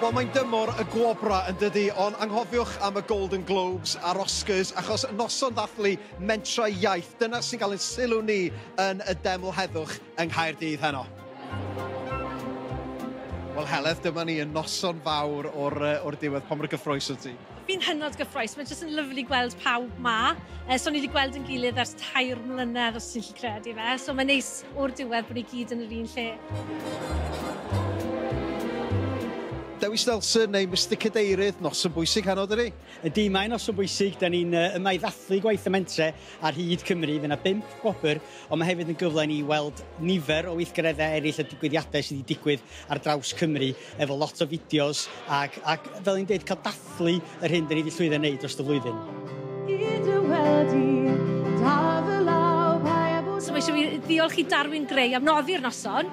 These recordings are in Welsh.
Wel, mae'n dymor y gwobra yn dydi, ond anghofiwch am y Golden Globes a'r Oscars, achos noson ddathlu Mentrau Iaith, dyna sy'n cael ein sylw ni yn y Deml Heddwch yng Nghaerdydd heno. Wel, Heledd, dyma ni yn noson fawr o'r diwedd. Pa mor gyffrous wyt ti? Fi'n hynod gyffrous. Mae'n jyst yn lyfli gweld pawb ma. So ni wedi gweld yn gilydd ers 3 mlynedd, os ti'n gallu credu fe. So mae'n neis o'r diwedd bod ni gyd yn yr un lle. Dewis Nelson neu Mr Cadeirydd, noson bwysig heno, dydi? Ydy, mae'n noson bwysig. Da ni'n yma i ddathlu gwaith y Mentre ar hyd Cymru. Fydd yna 5 gwobr, ond mae hefyd yn gyfle i ni weld nifer o weithgareddau eraill a digwyddiadau sydd wedi digwydd ar draws Cymru, efo lot o fideos ac fel ni'n dweud, cael dathlu yr hyn da ni wedi llwyddo wneud dros y flwyddyn. So mae eisiau fi ddiolch i Darwin Gray am noddi'r noson,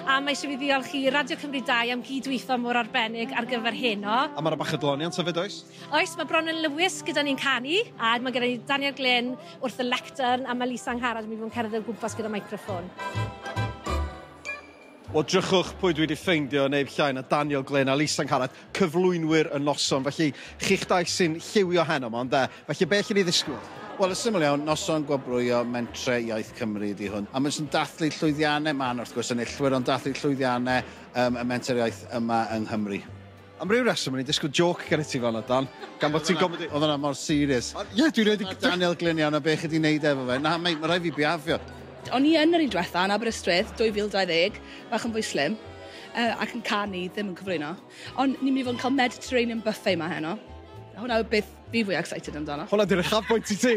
a mae eisiau fi ddiolch i Radio Cymru 2 am gydweithio mor arbennig ar gyfer heno. A mae'na bach o adloniant hefyd, oes? Oes, mae Bronwen Lewis gyda ni'n canu, a mae gyda ni Daniel Glyn wrth y lectern, a mae Lisa Angharad yn mynd i fod yn cerdded o gwmpas gyda microffon. Wel, drychwch pwy dwi wedi ffeindio neb llai na Daniel Glyn a Lisa Angharad, cyflwynwyr y noson. Felly, chi'ch dau sy'n lliwio heno yma, ynde? Felly, be allwn ni ddisgwyl? Wel, yn syml iawn, noson gwobrwyo Mentre Iaith Cymru ydi hwn. A mae'n dathlu llwyddiannau, ma'n wrth gwrs enillwyr, ond dathlu llwyddiannau y Menter Iaith yma yng Nghymru. Am ryw reswm, o'n i'n disgwyl joc gen i ti fel yna, Dan. Gan bod ti'n gofyn... Oedd hwnna mor serious. Ie, dwi'n rhaid i... Daniel Glyn iawn, a be chi wedi wneud efo fe. Na, mae rhaid fi biafio. O'n i yn yr un diwetha yn Aberystwyth, 2020, bach yn fwy slim, ac yn canu, ddim yn cyflwyno. Ond ni'n mynd i fod yn cael Mediterranean buffet yma heno. Hwna yw beth fi fwy excited amdano. Hwna di'r uchafbwynt i ti?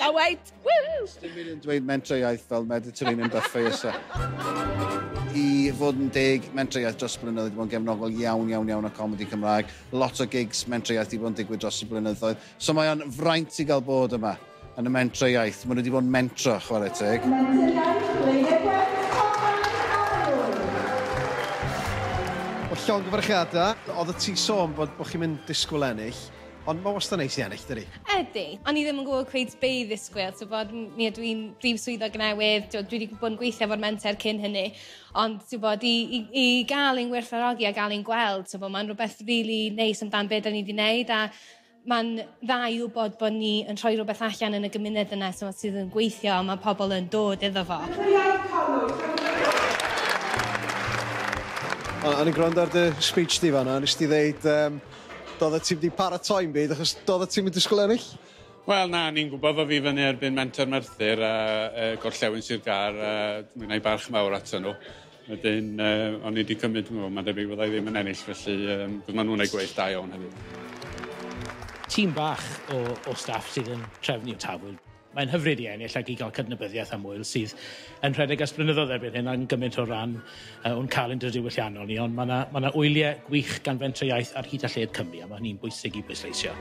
A wait! Woo! Dim un yn dweud Mentrau Iaith fel Mediterranean buffet oes e. I fod yn deg, Mentrau Iaith dros y blynyddoedd wedi bod yn gefnogol iawn, iawn, iawn o comedi Cymraeg. Lot o gigs Mentrau Iaith wedi bod yn digwydd dros y blynyddoedd. So mae o'n fraint i gael bod yma yn y Mentrau Iaith. Maen nhw wedi bod yn mentro, chwarae teg. Menter Iaith, Blaenau Gwent, Wel, llongyfarchiadau. Oedd ti'n sôn bod chi'n mynd disgwyl ennill, ond mae wastad neis i ennill, dydi? Ydy. O'n i ddim yn gwybod cweit be i ddisgwyl. So bod, mi ydw i'n brif swyddog newydd, dwi wedi bod yn gweithio efo'r Menter cyn hynny, ond ti'n bod, i gael ein gwerthfawrogi a gael ein gweld, so bod, mae'n rhywbeth really neis amdan be da ni wedi wneud, a mae'n dda i wybod bod ni yn rhoi rhywbeth allan yn y gymuned yna so, sydd yn gweithio a mae pobl yn dod iddo fo. O'n i'n gwrando ar dy speech di fan'na, nes ti ddeud doeddet ti'm wedi paratoi'n byd, achos doeddet ti'm yn disgwyl ennill? Wel, na, ni'n gwybod fo fi fyny erbyn Menter Merthyr a Gorllewin Sir Gâr, a dwi'n gwneud barch mawr ato nhw. Wedyn, o'n i wedi cymryd, mae'n debyg fyddai ddim yn ennill, felly maen nhw'n gwneud gwaith da iawn hefyd. Tîm bach o staff sydd yn trefnu Tafwyl. Mae'n hyfryd i ennill ac i gael cydnabyddiaeth am ŵyl sydd yn rhedeg ers blynyddoedd erbyn hyn a'n gymaint o ran o'n calendr diwylliannol ni, ond mae yna wyliau gwych gan Fentrau Iaith ar hyd a lled Cymru, a mae hynny'n bwysig i bwysleisio.